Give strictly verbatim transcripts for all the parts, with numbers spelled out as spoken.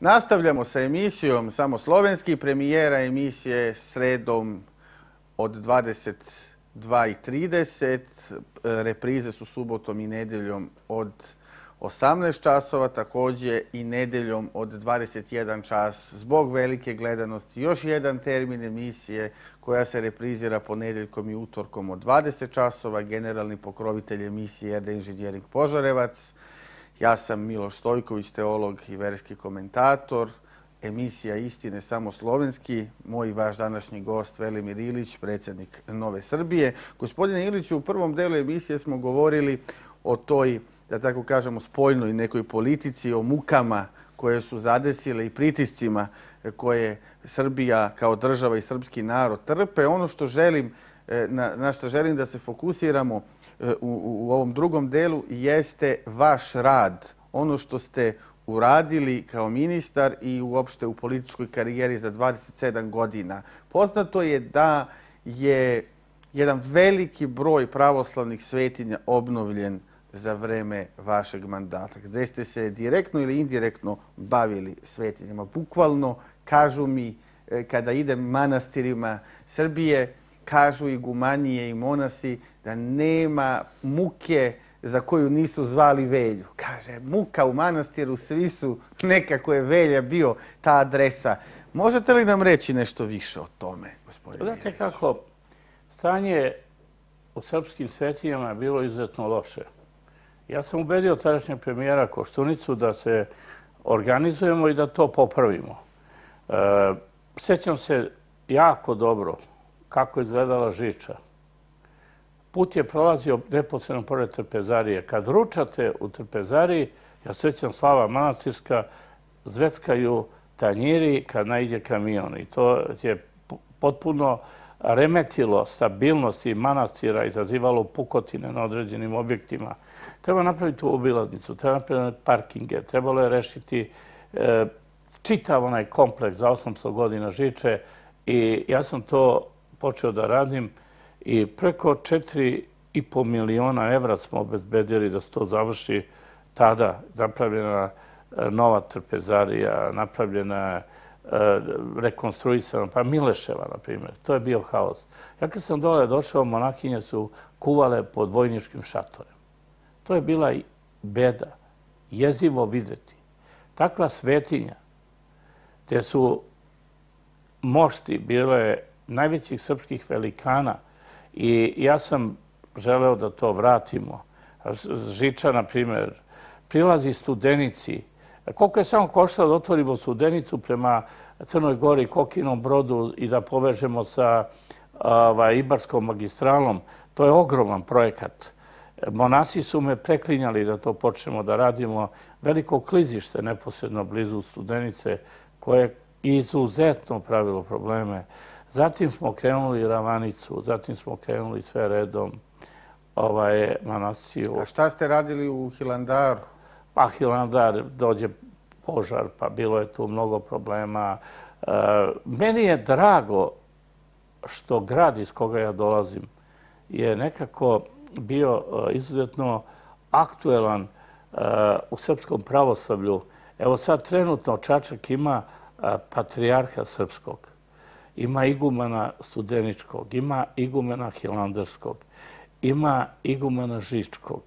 Nastavljamo sa emisijom Samo slovenski. Premijera emisije sredom od dvadeset dva i trideset. Reprize su subotom i nedeljom od osamnaest časova, također i nedeljom od dvadeset jedan čas. Zbog velike gledanosti još jedan termin emisije koja se reprizira ponedeljkom i utorkom od dvadeset časova. Generalni pokrovitelj emisije R D Inženjering Požarevac. Ja sam Miloš Stojković, teolog i verski komentator. Emisija Istine samo slovenski. Moj i vaš današnji gost Velimir Ilić, predsjednik Nove Srbije. Gospodine Iliću, u prvom delu emisije smo govorili o toj, da tako kažemo, spoljnoj nekoj politici, o mukama koje su zadesile i pritiscima koje Srbija kao država i srpski narod trpe. Ono što želim, na, na što želim da se fokusiramo u, u ovom drugom delu jeste vaš rad. Ono što ste uradili kao ministar i uopšte u političkoj karijeri za dvadeset sedam godina. Poznato je da je jedan veliki broj pravoslavnih svetinja obnovljen za vreme vašeg mandata, gde ste se direktno ili indirektno bavili svetinjama. Bukvalno, kažu mi, kada idem manastirima Srbije, kažu igumanije i monasi da nema muke za koju nisu zvali Velju. Kaže, muka u manastiru, svi su, nekako je Velja bio ta adresa. Možete li nam reći nešto više o tome, gospodine Ilić? Znate kako, stanje u srpskim svetinjama je bilo izuzetno loše. Ja sam ubedio tadašnjeg premijera Koštunicu da se organizujemo i da to popravimo. E, sjećam se jako dobro kako je izgledala Žiča. Put je prolazio neposredno pored Trpezarije. Kad ručate u Trpezariji, ja sjećam Slava Manastirska, zveckaju tanjiri kad najde kamion. I to je potpuno remetilo stabilnost i manastira, izazivalo pukotine na određenim objektima. Treba napraviti obilaznicu, treba napraviti parkinge, trebalo je rešiti e, čitav onaj kompleks za osamsto godina Žiče i ja sam to počeo da radim i preko četiri i po miliona evra smo obezbedili da se to završi tada. Napravljena nova Trpezarija, napravljena rekonstruisana, pa Mileševa, na primjer. To je bio haos. Ja kad sam dole došao, monakinje su kuvale pod vojničkim šatorem. To je bila beda, jezivo videti. Takva svetinja, gdje su mošti bile najvećih srpskih velikana i ja sam želeo da to vratimo. Žiča, na primjer, prilazi Studenici. Koliko je samo koštalo da otvorimo Studenicu prema Crnoj Gori, Kokinom Brodu i da povežemo sa ovaj, Ibarskom magistralom, to je ogroman projekat. Monasi su me preklinjali da to počnemo da radimo. Veliko klizište neposredno blizu Studenice koje je izuzetno pravilo probleme. Zatim smo krenuli Ravanicu, zatim smo krenuli sve redom ovaj, Manasiju. A šta ste radili u Hilandaru? Pa Hilandar, dođe požar, pa bilo je tu mnogo problema. E, meni je drago što grad iz koga ja dolazim je nekako bio izuzetno aktuelan uh, u srpskom pravoslavlju. Evo sad trenutno Čačak ima uh, patrijarha srpskog, ima igumana Studeničkog, ima igumana Hilandarskog, ima igumana Žičkog,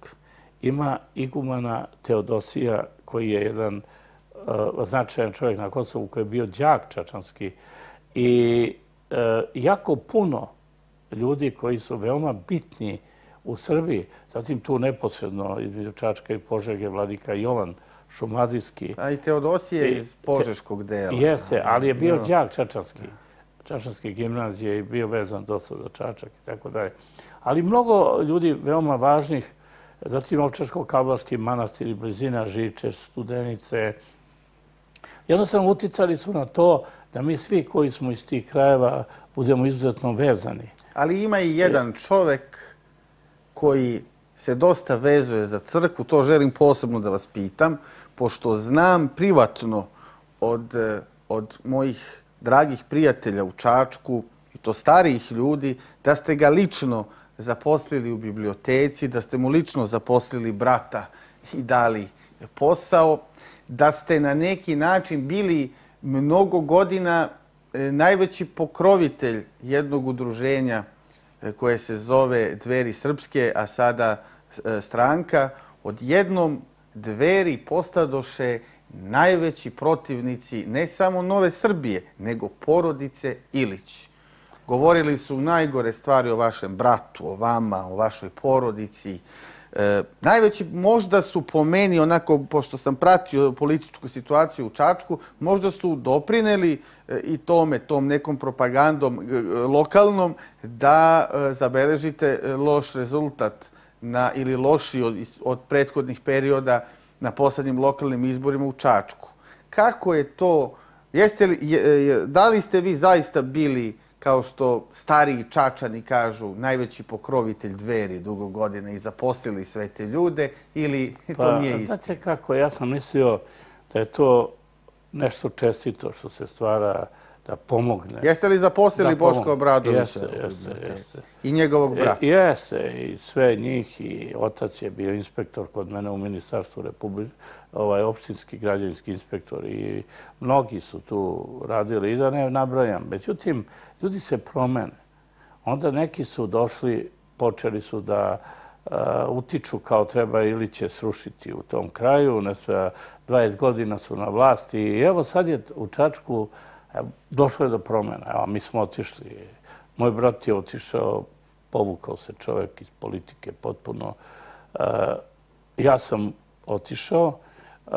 ima igumana Teodosija koji je jedan uh, značajan čovjek na Kosovu koji je bio đak čačanski i uh, jako puno ljudi koji su veoma bitni u Srbiji, zatim tu neposredno između Čačka i Požege vladika Jovan Šumadijski. A i Teodosije iz Požeškog dela. Jeste, ali je bio đak čačanski. Čačanske gimnazije i bio vezan dosta za Čačak i tako dalje. Ali mnogo ljudi veoma važnih, zatim Ovčarsko-Kablarski manastir i blizina Žiče, Studenice. Jednostavno uticali su na to da mi svi koji smo iz tih krajeva budemo izuzetno vezani. Ali ima i jedan čovek koji se dosta vezuje za crkvu, to želim posebno da vas pitam, pošto znam privatno od, od mojih dragih prijatelja u Čačku, i to starijih ljudi, da ste ga lično zaposlili u biblioteci, da ste mu lično zaposlili brata i dali posao. da ste na neki način bili mnogo godina najveći pokrovitelj jednog udruženja koje se zove Dveri srpske, a sada stranka. Odjednom Dveri postadoše najveći protivnici ne samo Nove Srbije, nego porodice Ilić. Govorili su najgore stvari o vašem bratu, o vama, o vašoj porodici. E, najveći možda su po meni, onako, pošto sam pratio političku situaciju u Čačku, možda su doprineli e, i tome, tom nekom propagandom e, lokalnom, da e, zabeležite loš rezultat na, ili loši od, od prethodnih perioda na poslednjim lokalnim izborima u Čačku. Kako je to? Jeste li, je, da li ste vi zaista bili, kao što stariji Čačani kažu, najveći pokrovitelj Dveri dugo godina i zaposlili sve te ljude, ili pa, to nije istina? Znate kako, ja sam mislio da je to nešto čestito što se stvara, da pomogne. Jeste li zaposlili Boška Obradovića? Jeste, jeste, jeste. I njegovog brata? Jeste, i sve njih, i otac je bio inspektor kod mene u Ministarstvu Republike, ovaj opštinski građevinski inspektor, i mnogi su tu radili, i da ne nabrajam. Međutim, ljudi se promene. Onda neki su došli, počeli su da uh, utiču kao treba Iliće srušiti u tom kraju. Nesva, dvadeset godina su na vlasti i evo sad je u Čačku došlo je do promjena. Evo, mi smo otišli. Moj brat je otišao, povukao se čovjek iz politike potpuno. Uh, ja sam otišao, uh,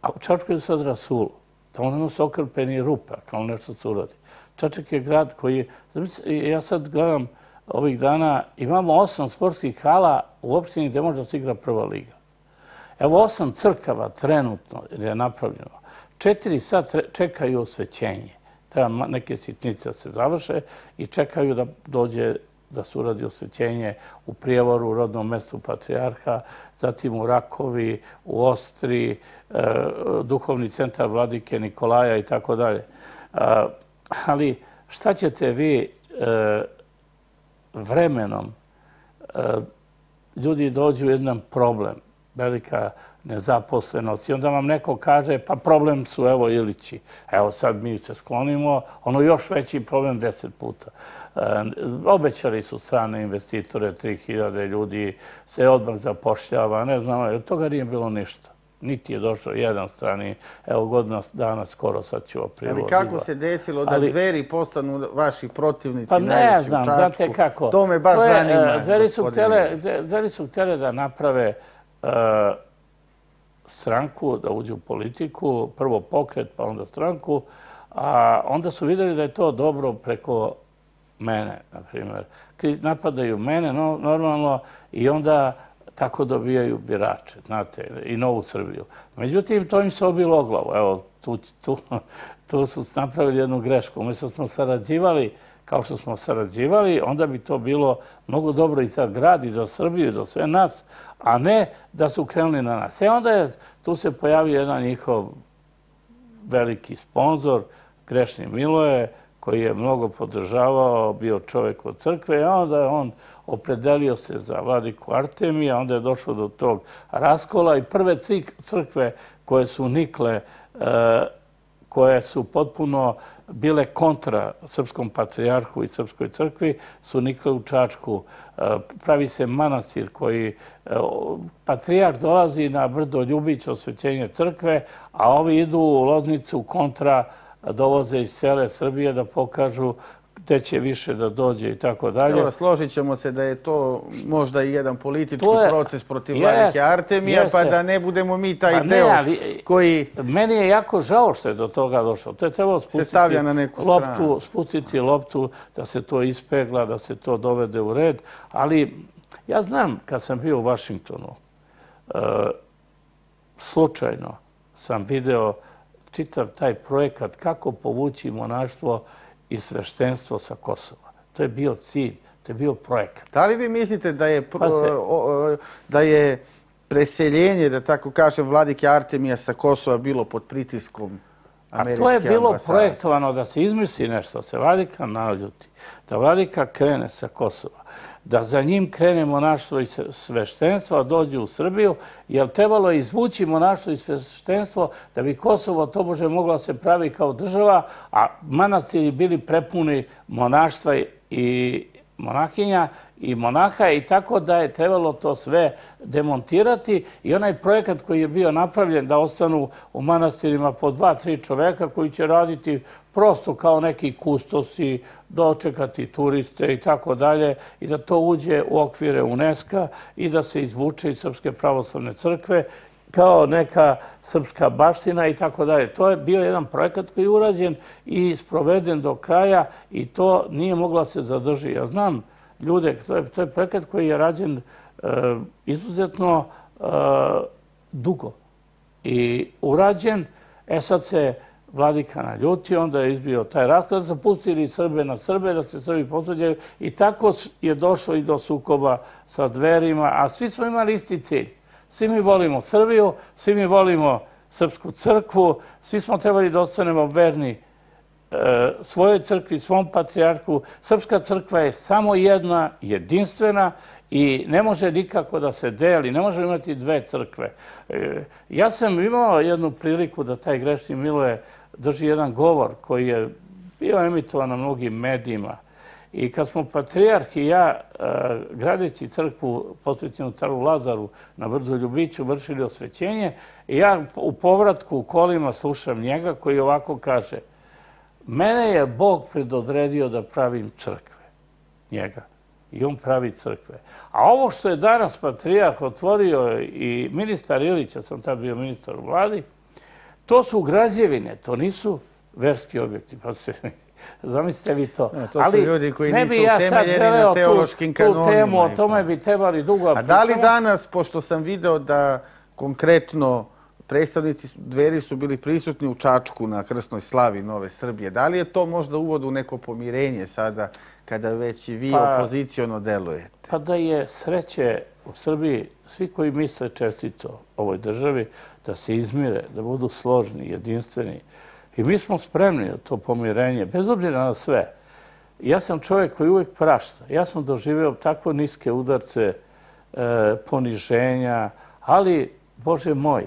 a u Čačku je sad rasulo. Tamo nema se okrpeni rupa, kao nešto se uradi. Čačak je grad koji je, ja sad gledam ovih dana, imamo osam sportskih hala u opštini gdje može da se igra prva liga. Evo osam crkava trenutno je napravljeno. Četiri sad čekaju osvećenje. Treba neke sitnice da se završe i čekaju da dođe da se uradi osvećenje u Prijevoru, u rodnom mestu Patrijarha, zatim u Rakovi, u Ostri, duhovni centar Vladike Nikolaja i tako dalje. Ali šta ćete vi vremenom, ljudi dođu u jedan problem, velika nezaposlenost, i onda vam neko kaže pa problem su evo Ilići. Evo sad mi se sklonimo, ono još veći problem deset puta. Obećali su strane investitore, tri hiljade ljudi se odmah zapošljava, ne znam, od toga nije bilo ništa. Niti je došao jedan strani, evo godina dana skoro, sad ću aprilu. Ali kako se desilo da Ali, Dveri postanu vaši protivnici pa ne najveći znam, u Čačku? znate kako. To me baš to je, zanima. Dveri su, htjele, Dveri su htjele da naprave uh, stranku, da uđu u politiku, prvo pokret, pa onda stranku, a onda su vidjeli da je to dobro preko mene, na primjer. Napadaju mene, no, normalno, i onda tako dobijaju birače, znate, i Novu Srbiju. Međutim, to im se obilo o glavu. Evo, tu, tu, tu su napravili jednu grešku. Umjesto smo sarađivali kao što smo sarađivali, onda bi to bilo mnogo dobro i za grad, i za Srbiju, i za sve nas, a ne da su krenuli na nas. E onda je, tu se pojavio jedan njihov veliki sponzor, Grešni Miloje, koji je mnogo podržavao, bio čovjek od crkve, a onda je on opredelio se za vladiku Artemija, onda je došlo do tog raskola i prve crkve koje su nikle, koje su potpuno bile kontra srpskom patrijarhu i srpskoj crkvi, su nikle u Čačku. Pravi se manastir koji, patrijarh dolazi na brdo Ljubić, osvećenje crkve, a ovi idu u Loznicu kontra, dovoze iz cele Srbije da pokažu gde će više da dođe i tako dalje. Evo, složit ćemo se da je to možda i jedan politički je, proces protiv vladike Artemija, jeste. Pa da ne budemo mi taj pa ne, deo ali, koji... Meni je jako žao što je do toga došlo. To je trebalo spustiti, na neku loptu, spustiti loptu, da se to ispegla, da se to dovede u red. Ali ja znam, kad sam bio u Vašingtonu, uh, slučajno sam video čitav taj projekat kako povući monaštvo i sveštenstvo sa Kosova. To je bio cilj, to je bio projekat. Da li vi mislite da je, pa se, da je preseljenje, da tako kažem, vladike Artemija sa Kosova bilo pod pritiskom američke ambasade? A to je bilo ambasade. Projektovano da se izmisli nešto, da se vladika naljuti, da vladika krene sa Kosova, da za njim krene monaštvo i sveštenstvo, a dođe u Srbiju, jer trebalo je izvući monaštvo i sveštenstvo da bi Kosovo tobože moglo se pravi kao država, a manastiri bili prepuni monaštva i monahinja i monaha i tako da je trebalo to sve demontirati i onaj projekat koji je bio napravljen da ostanu u manastirima po dva, tri čoveka koji će raditi prosto kao neki kustosi, dočekati turiste i tako dalje i da to uđe u okvire UNESCO i da se izvuče iz Srpske pravoslavne crkve kao neka srpska baština i tako dalje. To je bio jedan projekat koji je urađen i sproveden do kraja i to nije moglo se zadrži. Ja znam ljude, to je, to je projekat koji je rađen e, izuzetno e, dugo i urađen. E sad se vladika naljutio, onda je izbio taj raskaz, da su pustili Srbe na Srbe, da se Srbi posvađaju i tako je došlo i do sukoba sa Dverima, a svi smo imali isti cilj. Svi mi volimo Srbiju, svi mi volimo Srpsku crkvu, svi smo trebali da ostanemo verni e, svojoj crkvi, svom patrijarhu. Srpska crkva je samo jedna, jedinstvena i ne može nikako da se deli, ne može imati dve crkve. E, ja sam imao jednu priliku da taj grešni Miloje drži jedan govor koji je bio emitovan na mnogim medijima. I kad smo patrijarh i ja, gradeći crkvu posvećenu caru Lazaru na Brdu Ljubiću, vršili osvećenje, i ja u povratku u kolima slušam njega koji ovako kaže: mene je Bog predodredio da pravim crkve. Njega. I on pravi crkve. A ovo što je danas patrijarh otvorio i ministar Ilić, ja sam tad bio ministar u vladi, to su građevine, to nisu verski objekti. Pa se zamislite vi to. No, to su ali ljudi koji nisu utemeljeni na teološkim kanonima. Tu temu, o tome bi trebali dugo pričamo. A da li danas, pošto sam video da konkretno predstavnici Dveri su bili prisutni u Čačku na krsnoj slavi Nove Srbije, da li je to možda uvod u neko pomirenje sada kada već i vi pa, opoziciono delujete? Pa da je sreće u Srbiji, svi koji misle čestito ovoj državi, da se izmire, da budu složni, jedinstveni. I mi smo spremni na to pomirenje, bez obzira na sve. Ja sam čovjek koji uvijek prašta. Ja sam doživio takvo niske udarce, e, poniženja, ali, Bože moj,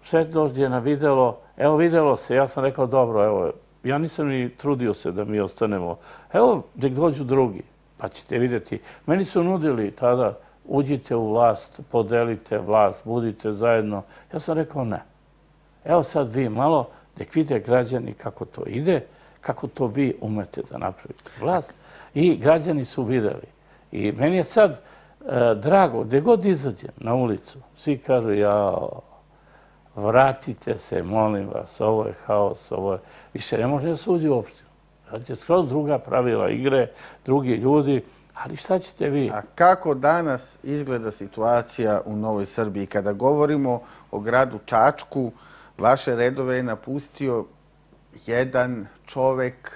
sve dođe na videlo, evo videlo se, ja sam rekao dobro, evo, ja nisam ni trudio se da mi ostanemo. Evo, nek dođu drugi, pa ćete vidjeti. Meni su nudili tada, uđite u vlast, podelite vlast, budite zajedno. Ja sam rekao ne. Evo sad vi malo, nek vide građani kako to ide, kako to vi umete da napravite vlast. I građani su videli. I meni je sad e, drago, gdje god izađem na ulicu, svi kažu, jao, vratite se, molim vas, ovo je haos, ovo je... Više ne može da se uđe u opštinu. Znači, skroz druga pravila igre, drugi ljudi, ali šta ćete vi? A kako danas izgleda situacija u Novoj Srbiji? Kada govorimo o gradu Čačku, vaše redove je napustio jedan čovek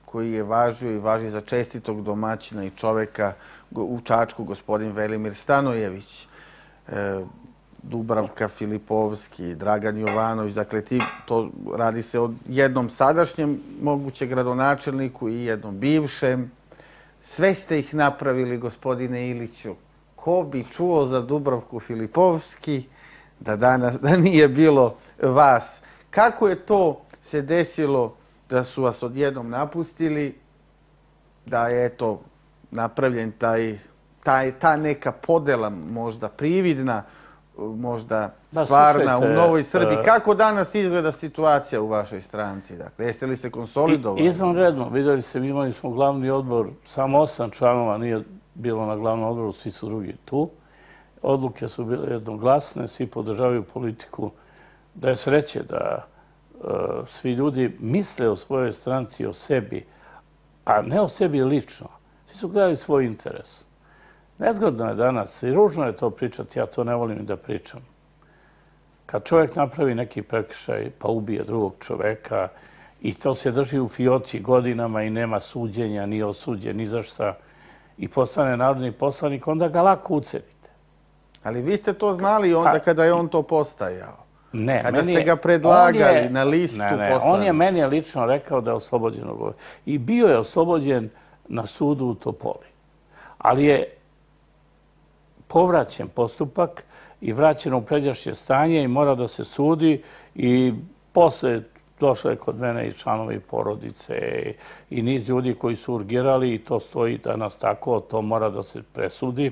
koji je važio i važi za čestitog domaćina i čoveka u Čačku, gospodin Velimir Stanojević, Dubravka Filipovski, Dragan Jovanović. Dakle, ti, to radi se o jednom sadašnjem moguće gradonačelniku i jednom bivšem. Sve ste ih napravili, gospodine Iliću. Ko bi čuo za Dubravku Filipovski da danas da nije bilo vas? Kako je to se desilo da su vas odjednom napustili, da je eto napravljen taj, taj, ta neka podela možda prividna, možda stvarna u Novoj Srbiji? Kako danas izgleda situacija u vašoj stranci? Dakle, jeste li se konsolidovali? Izvanredno. Vidjeli se, imali smo glavni odbor, samo osam članova nije bilo na glavnom odboru, svi su drugi tu. Odluke su bile jednoglasne, svi podržavaju politiku. Da je sreće da uh, svi ljudi misle o svojoj stranci, o sebi, a ne o sebi lično. Svi su gledali svoj interes. Nezgodno je danas i ružno je to pričati, ja to ne volim da pričam. Kad čovjek napravi neki prekršaj pa ubije drugog čoveka i to se drži u fioci godinama i nema suđenja, ni osuđen, ni za šta, i postane narodni poslanik, onda ga lako ucenite. Ali vi ste to znali onda kada je on to postajao? Ne. Kada ste ga predlagali na listu poslanika? On je meni lično rekao da je oslobođen. I bio je oslobođen na sudu u Topoli. ali je povraćen postupak i vraćeno u pređašnje stanje i mora da se sudi i posle došlo je kod mene i članovi porodice i niz ljudi koji su urgirali i to stoji danas tako, to mora da se presudi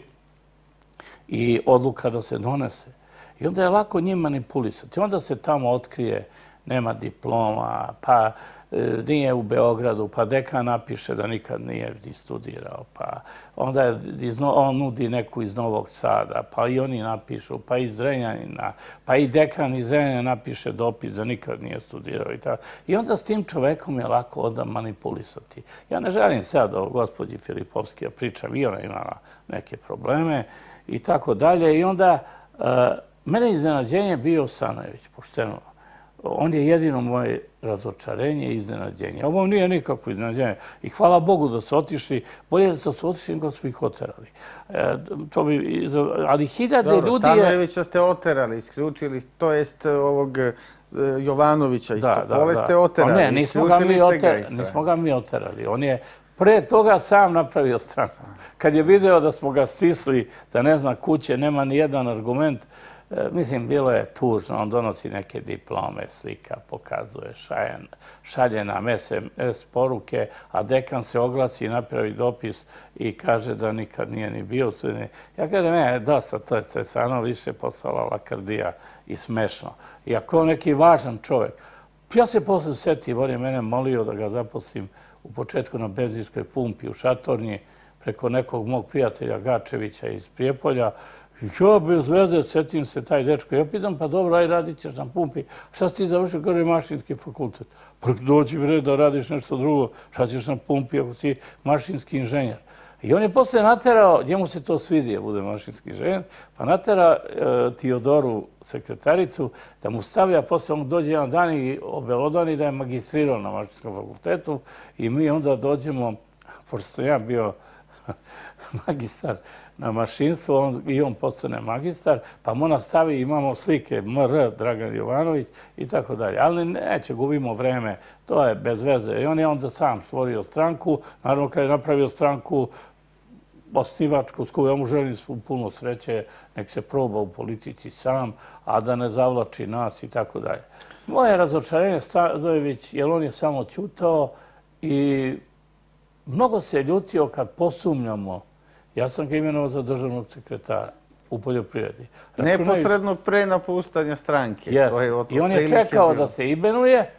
i odluka da se donese. I onda je lako njim manipulisati. Onda se tamo otkrije, nema diploma, pa nije u Beogradu, pa dekan napiše da nikad nije ni studirao, pa onda on nudi neku iz Novog Sada, pa i oni napišu, pa iz Zrenjanina, pa i dekan iz Zrenjanina napiše dopis da nikad nije studirao i tako. I onda s tim čovekom je lako onda manipulisati. Ja ne želim sad o gospođi Filipovski, ja pričam, i ona imala neke probleme i tako dalje. I onda mene iznenađenje bio Stanojević, pošteno. On je jedino moje razočarenje i iznenađenje. Ovo nije nikakvo iznenađenje. I hvala Bogu da su otišli. Bolje da su otišli nego su ih oterali. Ali hiljade ljudi je... Dobro, Stanojevića ste oterali, isključili, to jest ovog Jovanovića iz Topole ste oterali. Ne, nismo ga mi oterali. On je pre toga sam napravio stranku. Kad je video da smo ga stisli, da ne zna kuće, nema ni jedan argument, mislim, bilo je tužno. On donosi neke diplome, slika, pokazuje, šalje nam es em es poruke, a dekan se oglasi, napravi dopis i kaže da nikad nije ni bio. Ja kažem, ne, dosta, to je stvarno više postala lakrdija i smešno. I ako je neki važan čovjek, ja se posle sjetio, on je mene molio da ga zaposlim u početku na benzinskoj pumpi u Šatornji preko nekog mog prijatelja Gačevića iz Prijepolja. Ja bez veze, sjetim se taj dečko. Ja pitam, pa dobro, aj radit ćeš na pumpi. Šta si ti završio? Kaže, mašinski fakultet. Pa dođi mi red da radiš nešto drugo. Šta ćeš na pumpi ako si mašinski inženjer? I on je posle naterao, njemu se to svidi da bude mašinski inženjer, pa natera Teodoru, sekretaricu, da mu stavlja, posle on dođe jedan dan i obelodani da je magistrirao na mašinskom fakultetu i mi onda dođemo, pošto sam ja bio magistar na mašinstvu i on postane magistar, pa mu ona stavi, imamo slike M R Dragan Jovanović i tako dalje. Ali neće, gubimo vreme, to je bez veze. I on je onda sam stvorio stranku, naravno kad je napravio stranku osnivačku, s kojom ja mu želim svu puno sreće, nek se proba u politici sam, a da ne zavlači nas i tako dalje. Moje razočarenje Stanojević, jer on je samo ćutao i mnogo se ljutio kad posumnjamo. Ja sam ga imenovao za državnog sekretara u poljoprivredi. Neposredno pre napuštanja stranke. I on je čekao da se imenuje,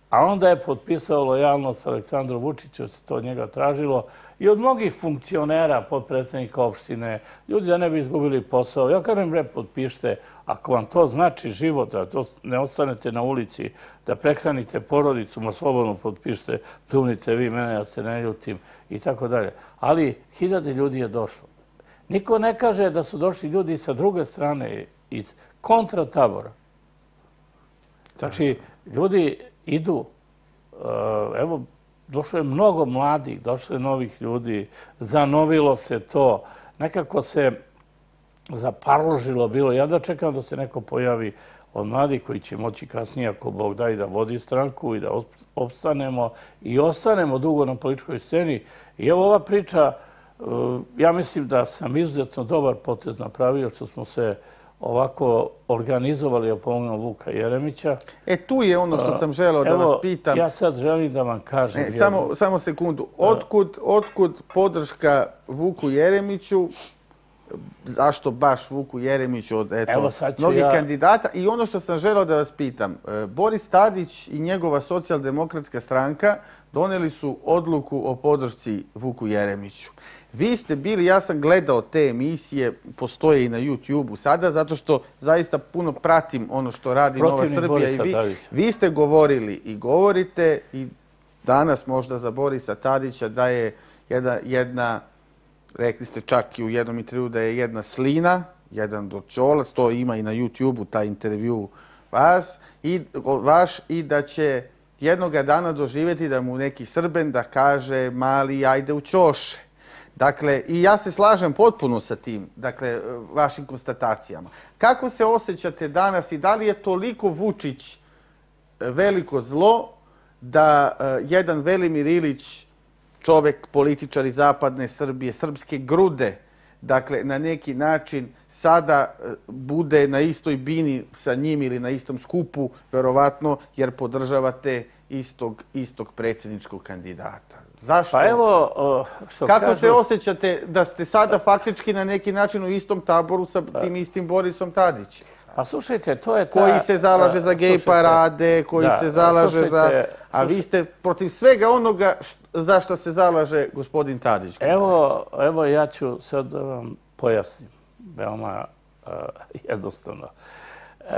a onda je potpisao lojalnost Aleksandru Vučiću, se to od njega tražilo, i od mnogih funkcionera, podpredsednika opštine, ljudi da ne bi izgubili posao. Ja kažem, bre, potpište, ako vam to znači život, da ne ostanete na ulici, da prehranite porodicu, ma slobodno potpište, pljunite vi mene, ja se ne ljutim, i tako dalje. Ali hiljade ljudi je došlo. Niko ne kaže da su došli ljudi sa druge strane, iz kontratabora. Znači, ljudi idu, evo, došlo je mnogo mladih, došlo je novih ljudi, zanovilo se to, nekako se zaparložilo bilo. Ja da čekam da se neko pojavi od mladih koji će moći kasnije, ako Bog da, i da vodi stranku i da opstanemo i ostanemo dugo na političkoj sceni. I evo ova priča, ja mislim da sam izuzetno dobar potez napravio što smo se ovako organizovali o pomognu Vuka Jeremića. E, tu je ono što sam želeo da vas pitam. Ja sad želim da vam kažem. Samo sekundu. Otkud podrška Vuku Jeremiću? Zašto baš Vuku Jeremiću od mnogih kandidata? I ono što sam želeo da vas pitam. Boris Tadić i njegova socijaldemokratska stranka doneli su odluku o podršci Vuku Jeremiću. Vi ste bili, ja sam gledao te emisije, postoje i na YouTube-u sada, zato što zaista puno pratim ono što radi Nova Srbija i vi. Vi ste govorili i govorite i danas možda za Borisa Tadića da je jedna, rekli ste čak i u jednom intervju da je jedna slina, jedan dočolac, to ima i na YouTube-u, taj intervju vas, vaš, i da će jednoga dana doživjeti da mu neki Srben da kaže mali ajde u ćoše. Dakle, i ja se slažem potpuno sa tim, dakle, vašim konstatacijama. Kako se osjećate danas i da li je toliko Vučić veliko zlo da jedan Velimir Ilić čovek, političar iz zapadne Srbije, srpske grude, dakle, na neki način sada bude na istoj bini sa njim ili na istom skupu, verovatno, jer podržavate istog, istog predsjedničkog kandidata. Zašto? Pa evo, što Kako kažu... se osjećate da ste sada faktički na neki način u istom taboru sa tim istim Borisom Tadićem? Pa slušajte, to je ta... Koji se zalaže za gej parade, koji se zalaže za... A vi ste protiv svega onoga za što se zalaže gospodin Tadić. Evo, evo ja ću sad da vam pojasnim. Veoma jednostavno.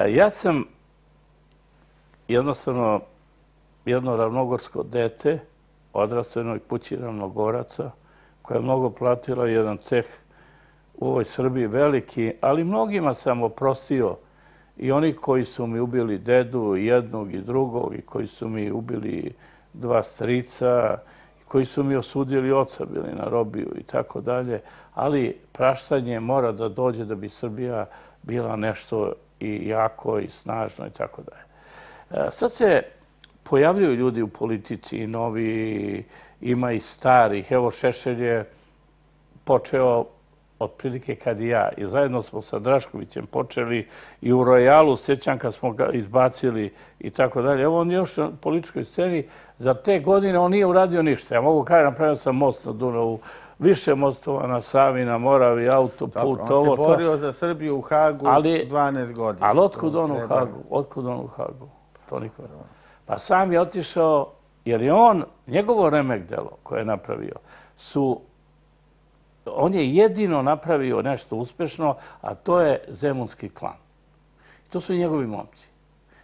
Ja sam jednostavno jedno ravnogorsko dete, odrastvenoj kući Ravnogoraca, koja je mnogo platila jedan ceh u ovoj Srbiji veliki, ali mnogima sam oprostio i oni koji su mi ubili dedu, jednog i drugog, i koji su mi ubili dva strica, i koji su mi osudili oca, bili na robiju i tako dalje, ali praštanje mora da dođe da bi Srbija bila nešto i jako i snažno i tako dalje. Sad se pojavljuju ljudi u politici i novi, ima i starih. Evo, Šešelj je počeo otprilike kad i ja. I zajedno smo sa Draškovićem počeli i u Royalu, sjećam kad smo ga izbacili i tako dalje. Evo, on je još na političkoj sceni. Za te godine on nije uradio ništa. Ja mogu kada napravio sam most na Dunavu, više mostova na Savi, na Moravi, autoput, ovo to. On se borio za Srbiju u Hagu dvanaest godina. Ali otkud on u Hagu? Otkud on u Hagu? To niko ne. Pa sam je otišao, jer je on, njegovo remek delo koje je napravio, su, on je jedino napravio nešto uspešno, a to je Zemunski klan. To su njegovi momci.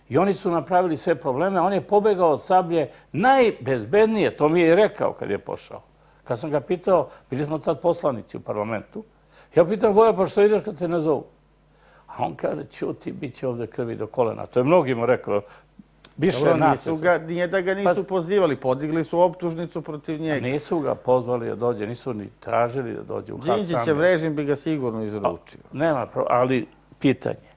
I oni su napravili sve probleme, on je pobegao od Sablje najbezbednije, to mi je i rekao kad je pošao. Kad sam ga pitao, bili smo tad poslanici u parlamentu, ja pitam, Voja, pa što ideš kad te ne zovu? A on kaže, ćuti, bit će ovdje krvi do kolena. To je mnogima rekao. Dobro, nije da ga nisu pozivali, podigli su optužnicu protiv njega. Nisu ga pozvali da dođe, nisu ni tražili da dođe u Hag. Đinđićev režim bi ga sigurno izručio. Nema, ali pitanje.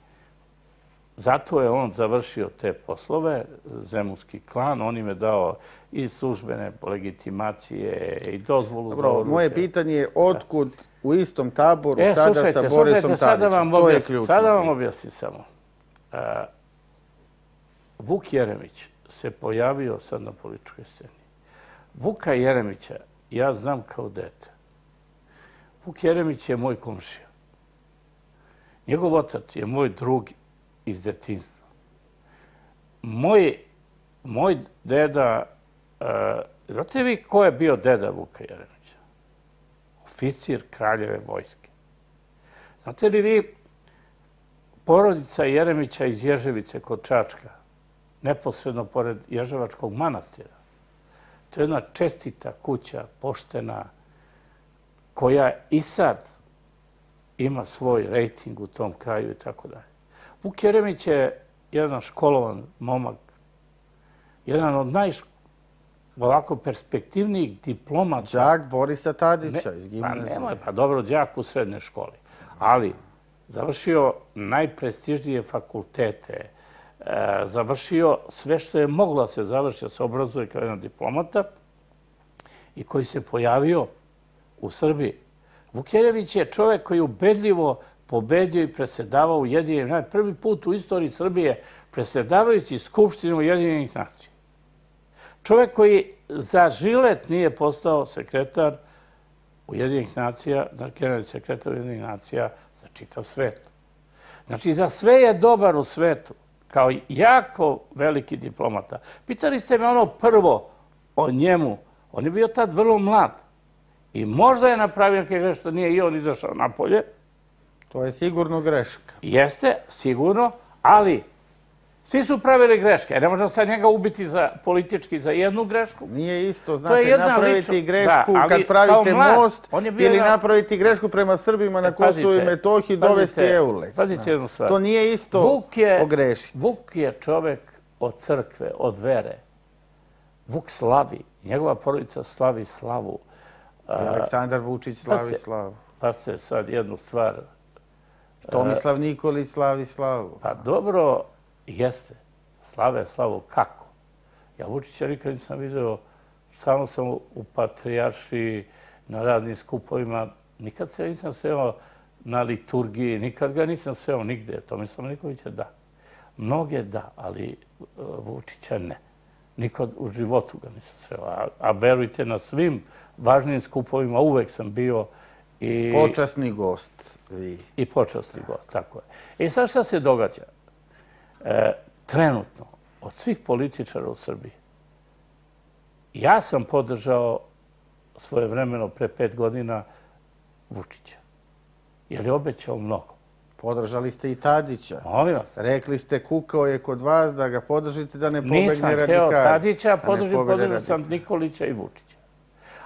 Zato je on završio te poslove, Zemunski klan, on im je dao i službene legitimacije i dozvolu za oružje. Moje pitanje je otkud u istom taboru sada sa Borisom Tadićem? To je ključno. Sada vam objasnim samo. Vuk Jeremić se pojavio sad na političkoj sceni. Vuka Jeremića ja znam kao dete. Vuk Jeremić je moj komšija. Njegov otac je moj drug iz detinjstva. Moj, moj deda... Uh, znate vi ko je bio deda Vuka Jeremića? Oficir Kraljeve vojske. Znate li vi porodica Jeremića iz Ježevice kod Čačka, neposredno pored Ježevačkog manastira. To je jedna čestita kuća, poštena, koja i sad ima svoj rejting u tom kraju i tako dalje. Vuk Jeremić je jedan školovan momak, jedan od najovako perspektivnijih diplomata. Đak Borisa Tadića iz gimnazije. Pa nemoj, pa dobro, đak u srednjoj školi. Ali završio najprestižnije fakultete, završio sve što je moglo da se završi, da se obrazuje kao jedan diplomata i koji se pojavio u Srbiji. Vuk Jeremić je čovjek koji ubedljivo pobedio i presedavao Ujedinjenih nacija. Prvi put u istoriji Srbije presedavajući Skupštinu Ujedinjenih nacija. Čovjek koji za žilet nije postao sekretar Ujedinjenih nacija, generalni sekretar Ujedinjenih nacija za čitav svet. Znači, za sve je dobar u svetu, kao jako veliki diplomata. Pitali ste me ono prvo o njemu. On je bio tad vrlo mlad. I možda je napravio neke greške što nije i on izašao napolje. To je sigurno greška. Jeste, sigurno, ali svi su pravili greške. Ne možemo sad njega ubiti politički za jednu grešku. Nije isto, znate, napraviti grešku kad pravite most ili napraviti grešku prema Srbima na Kosovu i Metohiji, dovesti Euleks. Pazite jednu stvar. To nije isto pogrešiti. Vuk je čovek od crkve, od vere. Vuk slavi. Njegova porodica slavi slavu. Aleksandar Vučić slavi slavu. Pa se sad jednu stvar. Tomislav Nikolić slavi slavu. Pa dobro, jeste. Slave slavu kako? Ja Vučića nikad nisam vidio stalno sam u Patrijaršiji, na radnim skupovima. Nikad se nisam sreo na liturgiji, nikad ga nisam sreo nigde. Tomislava Nikolića da. Mnoge da, ali Vučića ne. Nikad u životu ga nisam sreo. A, a verujte, na svim važnim skupovima uvek sam bio i... Počasni gost. Vi. I počasni gost, tako je. I sad šta se događa? E, trenutno, od svih političara u Srbiji, ja sam podržao svojevremeno pre pet godina Vučića. Jer je obećao mnogo. Podržali ste i Tadića. Molim vas. Rekli ste, kukao je kod vas da ga podržite da ne pobegne radikali. Nisam hteo Tadića, podržao sam Nikolića i Vučića.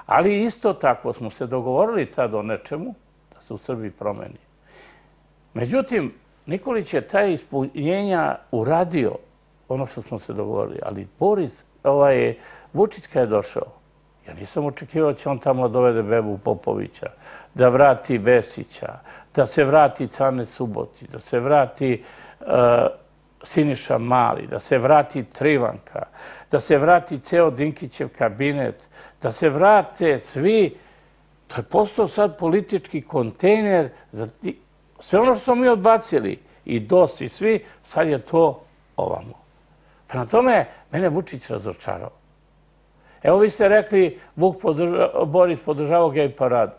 Ali isto tako smo se dogovorili tad o nečemu da se u Srbiji promeni. Međutim, Nikolić je taj ispunjenja uradio ono što smo se dogovorili. Ali Boris, ovaj, Vučić kad je došao, ja nisam očekivao da će on tamo dovede bebu Popovića, da vrati Vesića, da se vrati Cane Suboti, da se vrati uh, Siniša Mali, da se vrati Trivanka, da se vrati ceo Dinkićev kabinet, da se vrate svi. To je postao sad politički kontejner za ti... Sve ono što smo mi odbacili, i D O S i svi, sad je to ovamo. Prema tome, mene Vučić razočarao. Evo vi ste rekli, Vuk podrža, Boris podržavao gej paradu.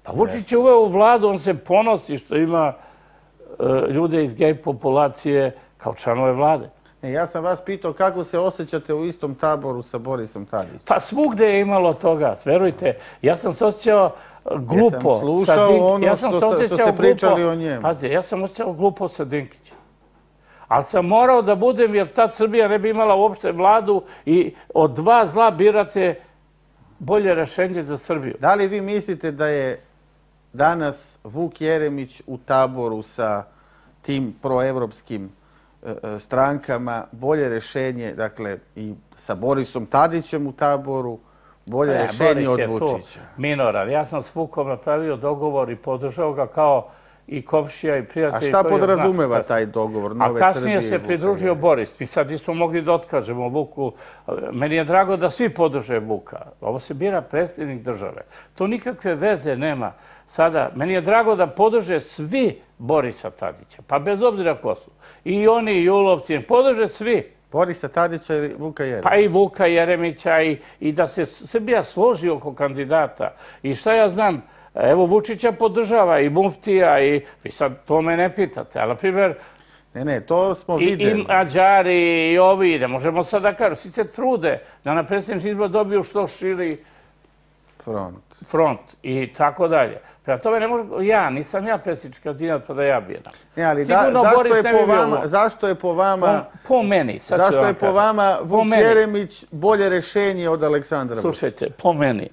Pa Vučić je uveo u vladu, on se ponosi što ima uh, ljude iz gej populacije kao članove vlade. E, ja sam vas pitao kako se osjećate u istom taboru sa Borisom Tadićem. Pa svugde je imalo toga, verujte. Ja sam se osjećao glupo. Ja sam slušao Dink... ono ja sam što, što ste pričali glupo. O njemu. Pazite, ja sam osjećao glupo sa Dinkićem. Ali sam morao da budem, jer tad Srbija ne bi imala uopšte vladu i od dva zla birate bolje rešenje za Srbiju. Da li vi mislite da je danas Vuk Jeremić u taboru sa tim proevropskim e, strankama bolje rešenje, dakle, i sa Borisom Tadićem u taboru, bolje ne, rešenje Boris od Vučića? Minoran. Ja sam s Vukom napravio dogovor i podržao ga kao i komšija i prijatelji. A šta podrazumeva taj dogovor Nove Srbije? A kasnije se pridružio Boris. Mi sad nismo mogli da otkažemo Vuku. Meni je drago da svi podrže Vuka. Ovo se bira predsjednik države. To nikakve veze nema. Sada, meni je drago da podrže svi Borisa Tadića. Pa bez obzira ko su. I oni, i Julovci, podrže svi. Borisa Tadića ili Vuka Jeremića? Pa i Vuka Jeremića i, i da se Srbija složi oko kandidata. I šta ja znam, evo Vučića podržava i Muftija i vi sad to me ne pitate, ali na primjer... Ne, ne, to smo vidjeli. I Mađari i ovi, ne možemo sad da kažem, svi se trude da na predsjednički izbor dobiju što širi front. front i tako dalje. Prema tome ne možemo, ja, nisam ja predsjednički kandidat pa da ja bijedam. Ne, ali da, zašto, je po vama, zašto je po vama... Po, po meni, sad zašto vam je po vama Vuk Jeremić bolje rešenje od Aleksandra Vučića? Slušajte, po meni.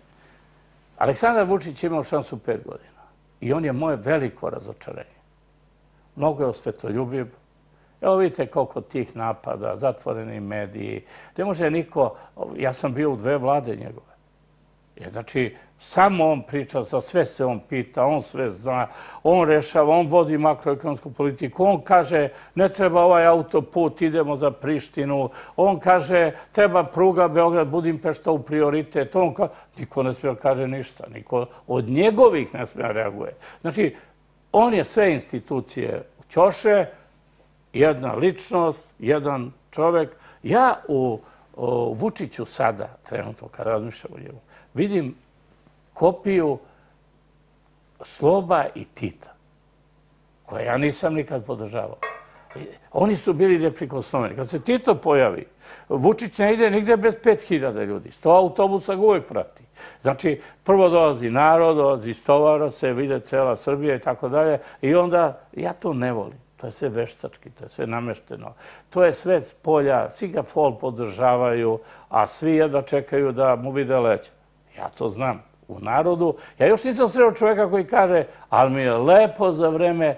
Aleksandar Vučić je imao šansu pet godina. I on je moje veliko razočarenje. Mnogo je osvetoljubiv. Evo vidite koliko tih napada, zatvoreni mediji. Ne može niko... Ja sam bio u dve vlade njegove. Jer, znači, samo on priča, za sve se on pita, on sve zna, on rešava, on vodi makroekonomsku politiku, on kaže ne treba ovaj autoput, idemo za Prištinu, on kaže treba pruga Beograd-Budimpešta u prioritet, on kaže, niko ne smije kaže ništa, niko od njegovih ne smije reaguje. Znači, on je sve institucije u ćoše, jedna ličnost, jedan čovek. Ja u, u Vučiću sada, trenutno kad razmišljam o njemu, vidim kopiju Sloba i Tita, koje ja nisam nikad podržavao. Oni su bili neprikosnoveni. Kad se Tito pojavi, Vučić ne ide nigde bez pet hiljada ljudi. Sto autobusa ga uvek prati. Znači, prvo dolazi narod, dolazi stovara se, vide cela Srbija i tako dalje. I onda, ja to ne volim. To je sve veštački, to je sve namešteno. To je sve s polja, svi ga fol podržavaju, a svi jedva čekaju da mu vide leđa. Ja to znam u narodu. Ja još nisam sreo čovjeka koji kaže, ali mi je lepo za vreme,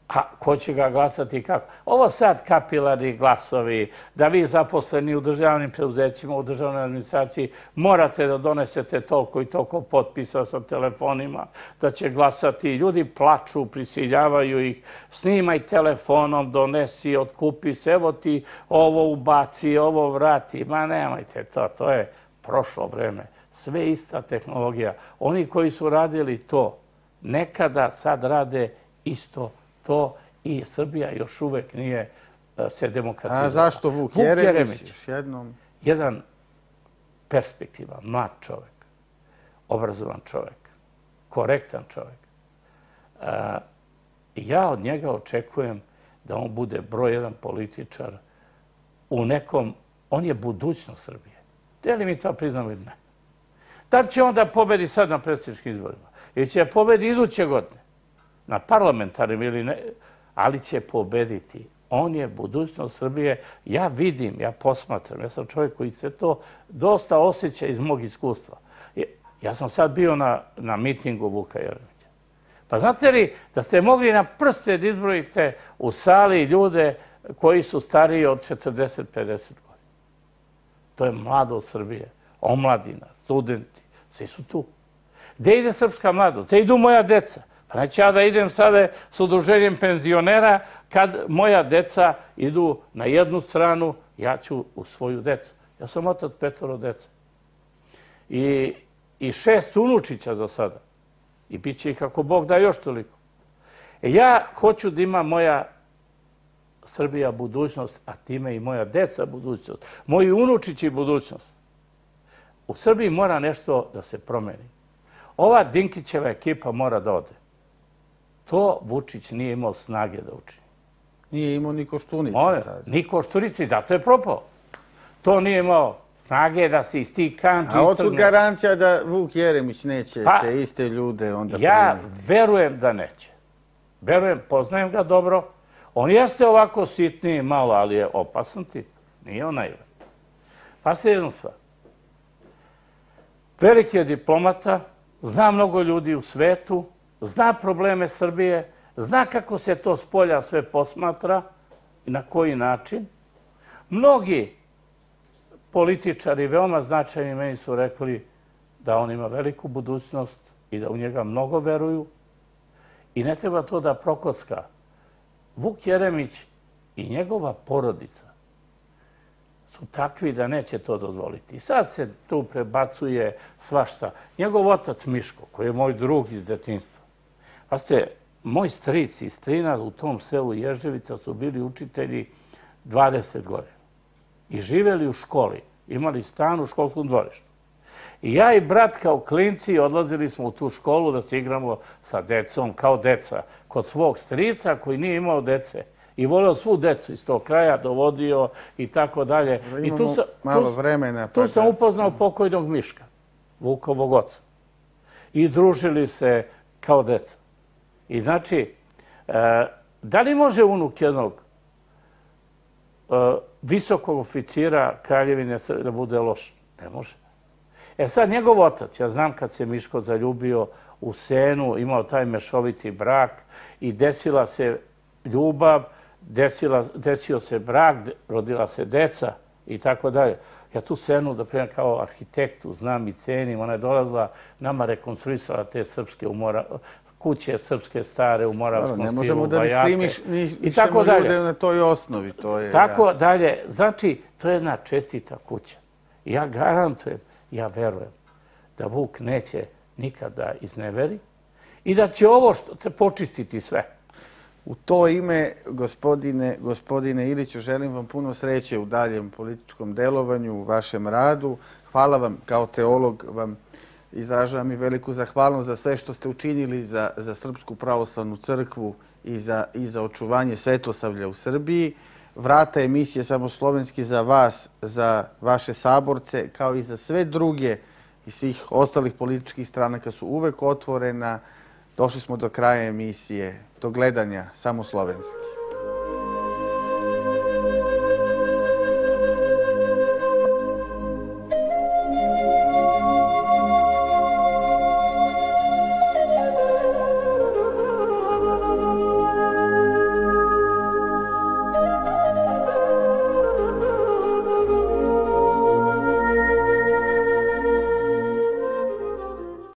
a ko će ga glasati i kako. Ovo sad kapilarni glasovi, da vi zaposleni u državnim preuzećima, u državnoj administraciji, morate da donesete toliko i toliko potpisa sa telefonima, da će glasati. Ljudi plaču, prisiljavaju ih, snimaj telefonom, donesi, otkupi se, evo ti ovo ubaci, ovo vrati. Ma nemojte to, to je prošlo vreme, sve ista tehnologija. Oni koji su radili to nekada, sad rade isto to i Srbija još uvek nije se demokratizovala. A zašto Vuk Jeremić? Još jednom. Jedan perspektivan, mlad čovjek, obrazovan čovjek, korektan čovjek. Ja od njega očekujem da on bude broj jedan političar u nekom, on je budućnost Srbije. Da li mi to priznamo ili ne? Da će on da pobedi sad na predsjedničkim izborima? Ili će pobedi iduće godine? Na parlamentarnim ili ne? Ali će pobediti. On je budućnost Srbije. Ja vidim, ja posmatram. Ja sam čovjek koji se to dosta osjeća iz mog iskustva. Ja sam sad bio na, na mitingu Vuka Jeremića. Pa znate li da ste mogli na prste da izbrojite u sali ljude koji su stariji od četrdeset do pedeset godina? To je mladost Srbije, omladina, studenti, svi su tu. Gde ide srpska mladost? Gde idu moja deca? Pa neću ja da idem sada s udruženjem penzionera kad moja deca idu na jednu stranu, ja ću u svoju decu. Ja sam otac petoro deca. I, i šest unučića do sada. I bit će ih kako Bog da još toliko. E ja hoću da ima moja Srbija budućnost, a time i moja deca budućnost. Moji unučići budućnost. U Srbiji mora nešto da se promeni. Ova Dinkićeva ekipa mora da ode. To Vučić nije imao snage da učini. Nije imao ni Koštunici. Ni Koštunici, zato je propao. To nije imao snage da se iz tih kanči istrgne. A otkud garancija da Vuk Jeremić neće te iste ljude onda primiti? Ja verujem da neće. Verujem, poznajem ga dobro. On jeste ovako sitniji malo, ali je opasan tip. Nije on naivan. Pa se jednu stvar. Veliki je diplomata, zna mnogo ljudi u svetu, zna probleme Srbije, zna kako se to s polja sve posmatra i na koji način. Mnogi političari, veoma značajni, meni su rekli da on ima veliku budućnost i da u njega mnogo veruju i ne treba to da prokocka. Vuk Jeremić i njegova porodica su takvi da neće to dozvoliti. I sad se tu prebacuje svašta. Njegov otac Miško, koji je moj drug iz detinjstva. Pa ste, moj stric i strina u tom selu Ježevica su bili učitelji dvadeset godina. I živeli u školi. Imali stan u školskom dvorištu. I ja i brat kao klinci odlazili smo u tu školu da se igramo sa decom, kao deca, kod svog strica koji nije imao dece. I voleo svu decu iz tog kraja, dovodio i tako dalje. Imamo malo vremena. Tu sam upoznao pokojnog Miška, Vukovog oca. I družili se kao deca. I znači, da li može unuk jednog visokog oficira Kraljevine da bude loš? Ne može. E sad, njegov otac, ja znam kad se Miško zaljubio u Senu, imao taj mešoviti brak i desila se ljubav, desio se brak, rodila se deca i tako dalje. Ja tu Senu, da primjer, kao arhitektu znam i cenim, ona je dolazila, nama rekonstruisala te srpske kuće, srpske stare u Moravskom stilu, ne možemo da diskriminišemo ljude na toj osnovi. Tako dalje. Znači, to je jedna čestita kuća. Ja garantujem, ja verujem da Vuk neće nikada izneveri i da će ovo počistiti sve. U to ime, gospodine Iliću, želim vam puno sreće u daljem političkom delovanju, u vašem radu. Hvala vam, kao teolog, vam izražavam i veliku zahvalnost za sve što ste učinili za Srpsku pravoslavnu crkvu i za očuvanje svetosavlja u Srbiji. Vrata emisije Samoslovenski za vas, za vaše saborce, kao i za sve druge i svih ostalih političkih stranaka su uvek otvorena. Došli smo do kraja emisije. Do gledanja, Samoslovenski.